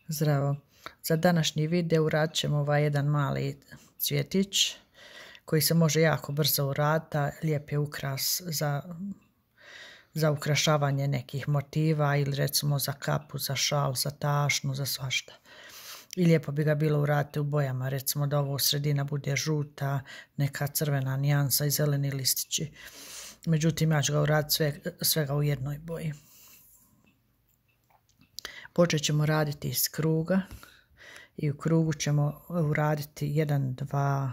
Zdravo. Za današnji video uradit ćemo ovaj jedan mali cvjetić koji se može jako brzo uraditi, a lijep je ukras za ukrašavanje nekih motiva ili recimo za kapu, za šal, za tašnu, za svašta. I lijepo bi ga bilo uraditi u bojama, recimo da ovo sredina bude žuta, neka crvena nijansa i zeleni listići. Međutim, ja ću ga uraditi svega u jednoj boji. Počet ćemo raditi iz kruga i u krugu ćemo uraditi 1, 2,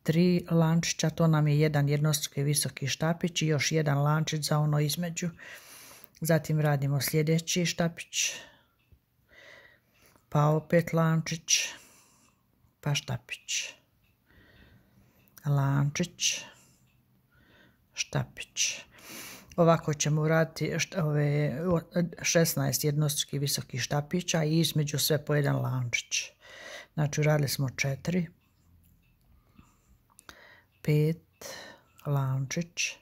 3 lančića. To nam je jedan jednostruki visoki štapić i još jedan lančić za ono između. Zatim radimo sljedeći štapić, pa opet lančić, pa štapić, lančić, štapić. Ovako ćemo uraditi ove 16 jednostrukih visokih štapića i između sve po jedan lančić. Znači uradili smo 4, 5 lančić,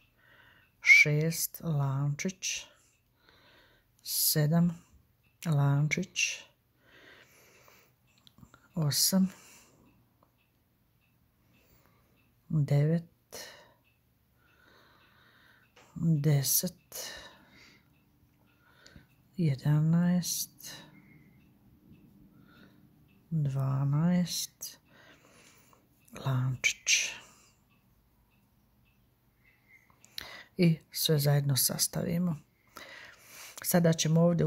6 lančić, 7 lančić, 8, 9, 10, 11, 12 lančić. I sve zajedno sastavimo. Sada ćemo ovdje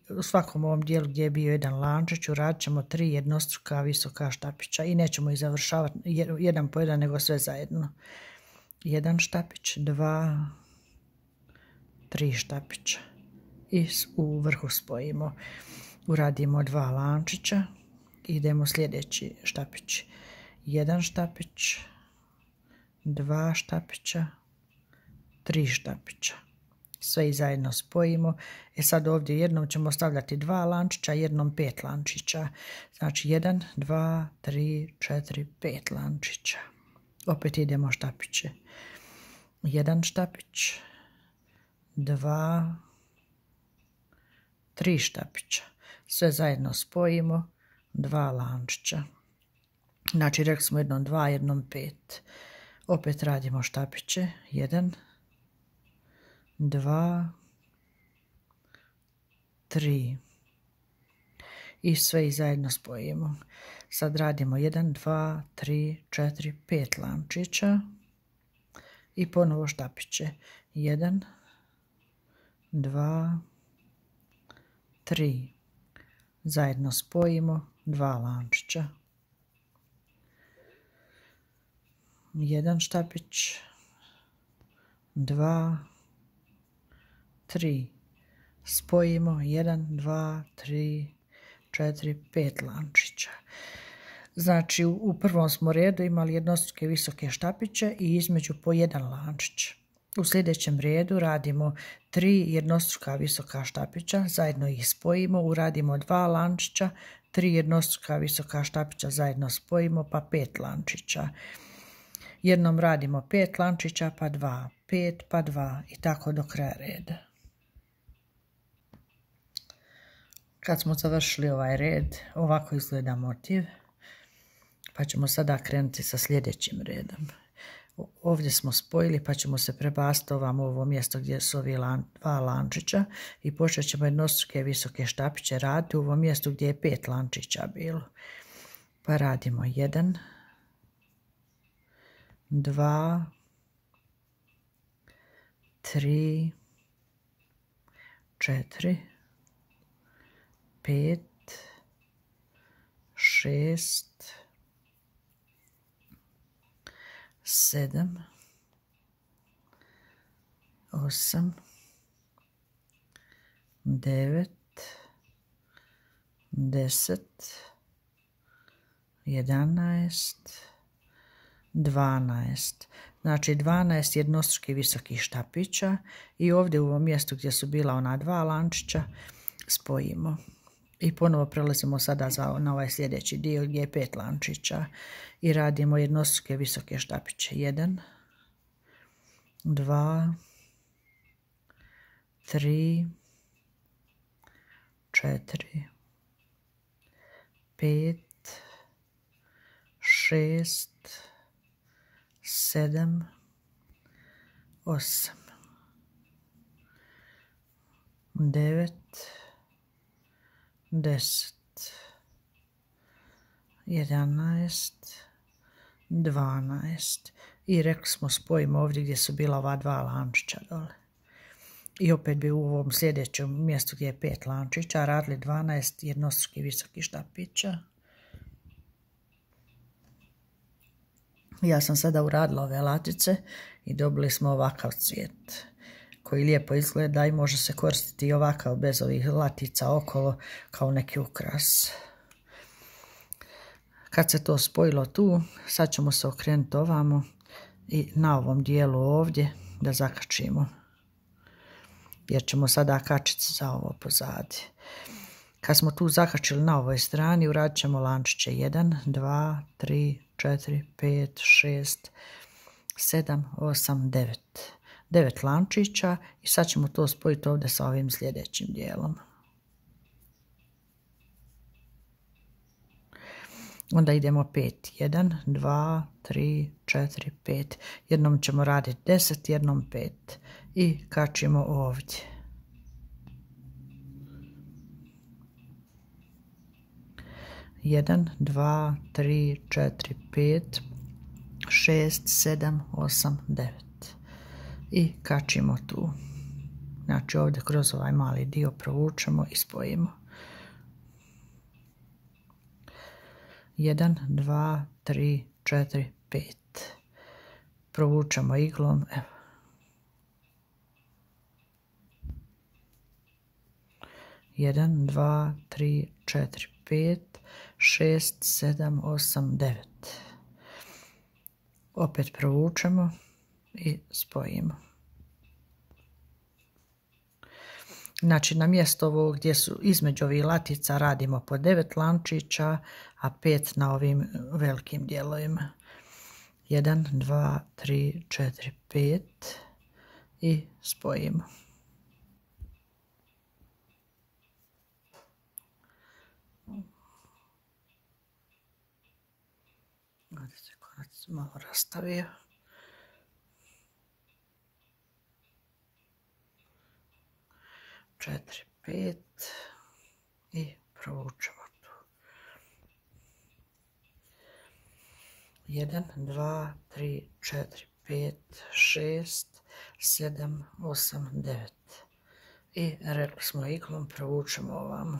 u svakom ovom dijelu gdje je bio jedan lančić uradit ćemo 3 jednostruka visoka štapića i nećemo ih završavati jedan po jedan nego sve zajedno. 1 štapić, 2, 3 štapića i u vrhu spojimo. Uradimo 2 lančića, idemo sljedeći štapić. 1 štapić, 2 štapića, 3 štapića. Sve i zajedno spojimo. Sad ovdje jednom ćemo stavljati 2 lančića, jednom 5 lančića. Znači 1, 2, 3, 4, 5 lančića. Opet idemo štapiće. 1 štapić, 2, 3 štapića. Sve zajedno spojimo, 2 lančića. Znači rekli smo jednom 2, jednom 5. Opet radimo štapiće. 1, 2, 3. I sve i zajedno spojimo. Sad radimo 1, 2, 3, 4, 5 lančića i ponovo štapiće. 1, 2, 3. Zajedno spojimo, 2 lančića. 1 štapić, 2, 3. Spojimo 1, 2, 3, 4, 5 lančića. Znači u prvom smo redu imali jednostruke visoke štapiće i između po jedan lančić. U sljedećem redu radimo 3 jednostruka visoka štapića, zajedno ih spojimo, uradimo 2 lančića, 3 jednostruka visoka štapića, zajedno spojimo, pa 5 lančića. Jednom radimo 5 lančića, pa 2, 5, pa 2 i tako do kraja reda. Kad smo završili ovaj red, ovako izgleda motiv, pa ćemo sada krenuti sa sljedećim redom. Ovdje smo spojili, pa ćemo se prebaciti ovamo u ovo mjesto gdje su ovi 2 lančića i počet ćemo jednostruke visoke štapiće raditi u ovom mjestu gdje je 5 lančića bilo. Pa radimo 1, 2, 3, 4, 5, 6, 7, 8, 9, 10, 11, 12. Znači 12 jednostrukih visokih štapića i ovdje u ovom mjestu gdje su bila ona 2 lančića spojimo. I ponovo prelazimo sada na ovaj sljedeći dio gdje je 5 lančića i radimo jednostruke visoke štapiće. 1, 2, 3, 4, 5, 6, 7, 8, 9, 10, 11, 12 i rekli smo spojimo ovdje gdje su bila ova 2 lančića dole. I opet bi u ovom sljedećem mjestu gdje je 5 lančića radili 12 jednostrukih visokih štapića. Ja sam sada uradila ove latice i dobili smo ovakav cvijet koji lijepo izgleda i može se koristiti i ovakav bez ovih latica okolo kao neki ukras. Kad se to spojilo tu, sad ćemo se okrenuti ovamo i na ovom dijelu ovdje da zakačimo. Jer ćemo sada kačiti za ovo pozadi. Kad smo tu zakačili na ovoj strani, uradit ćemo lančiće 1, 2, 3, 4, 5, 6, 7, 8, 9. 9 lančića i sad ćemo to spojiti ovdje sa ovim sljedećim dijelom. Onda idemo 5. 1, 2, 3, 4, 5. Jednom ćemo raditi 10, jednom 5. I kačimo ovdje. Jedan, dva, tri, četiri, pet, 6, 7, 8, 9. I kačimo tu. Znači ovdje kroz ovaj mali dio provučemo i spojimo. 1, 2, 3, 4, 5. Provučemo iglom. Evo. 1, 2, 3, 4, 5, 6, 7, 8, 9. Opet provučemo i spojimo. Znači na mjesto ovo gdje su između ovih latica radimo po 9 lančića, a 5 na ovim velikim dijelovima. 1, 2, 3, 4, 5 i spojimo. Ovdje se konac malo rastavio. Četiri, 5 i provučemo tu. 1, 2, 3, 4, 5, 6, 7, 8, 9. I rekli smo iglom provučemo ovamo.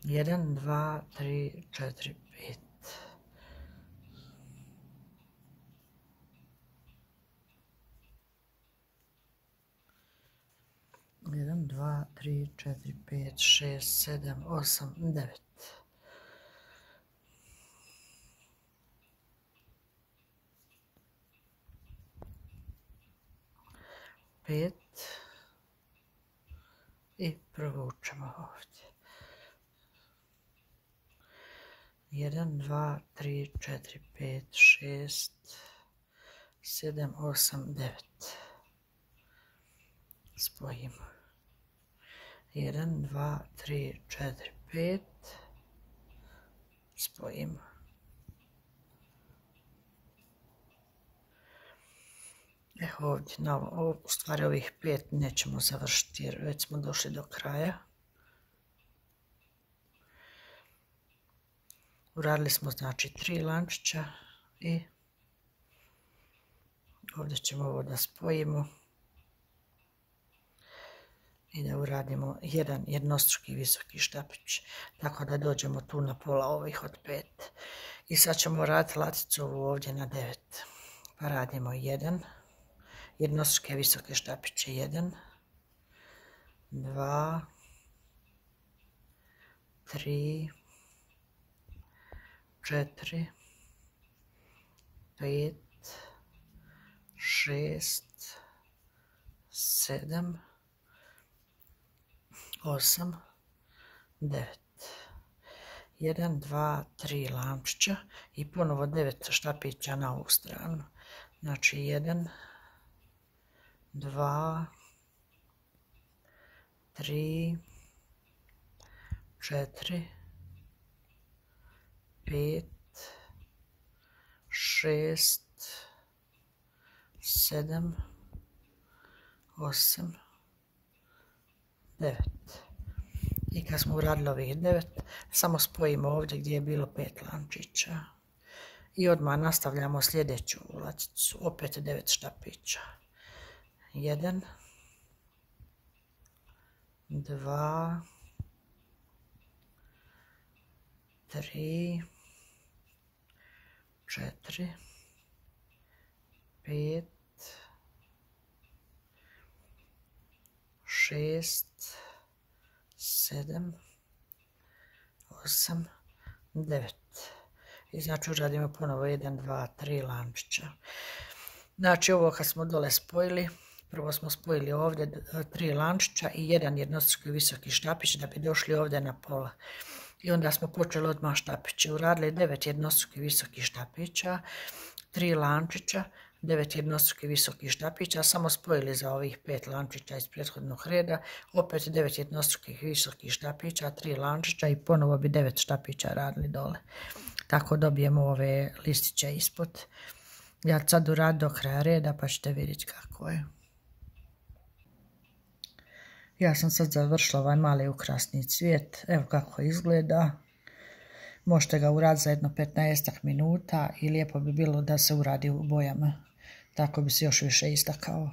1, 2, 3, 4, 5. Jedan, dva, tri, četiri, pet, šest, sedam, osam, 9. Pet i provučemo ovdje. 1, 2, 3, 4, 5, 6, 7, 8, 9. Spojimo. 1, 2, 3, 4, 5. Spojimo. Evo ovdje, u stvari ovih 5 nećemo završiti jer već smo došli do kraja. Uradili smo znači 3 lančića i ovdje ćemo ovo da spojimo i da uradimo jedan jednostruki visoki štapić, tako da dođemo tu na pola ovih od 5. I sad ćemo raditi laticu ovu ovdje na 9. Pa radimo 1, jednostruke visoke štapiće 1, 2, 3, 4, 5, 6, 7, 8, 9. 1, 2, 3 lančića i ponovo 9 štapića na ovu stranu. Znači 1, 2, 3, 4, 5, 6, 7, 8, 9. I kad smo uradili ovih 9, samo spojimo ovdje gdje je bilo 5 lančića. I odmah nastavljamo sljedeću ulaticu, opet 9 štapića. 1, 2, 3, 4, 5, 6, 7, 8, 9. I znači uradimo ponovo 1, 2, 3 lančića. Znači ovo kad smo dole spojili, prvo smo spojili ovdje 3 lančića i jedan jednostruki visoki štapić da bi došli ovdje na pola. I onda smo počeli odmah štapiće. Uradili 9 jednostruki visokih štapića, 3 lančića, 9 jednostruki visokih štapića, samo spojili za ovih 5 lančića iz prethodnog reda, opet 9 jednostrukih visokih štapića, 3 lančića i ponovo bi 9 štapića radili dole. Tako dobijemo ove listiće ispod. Ja ću sad uraditi do kraja reda pa ćete vidjeti kako je. Ja sam sad završila ovaj mali ukrasni cvijet, evo kako izgleda. Možete ga uraditi za jedno 15 minuta i lijepo bi bilo da se uradi u bojama, tako bi se još više istakao.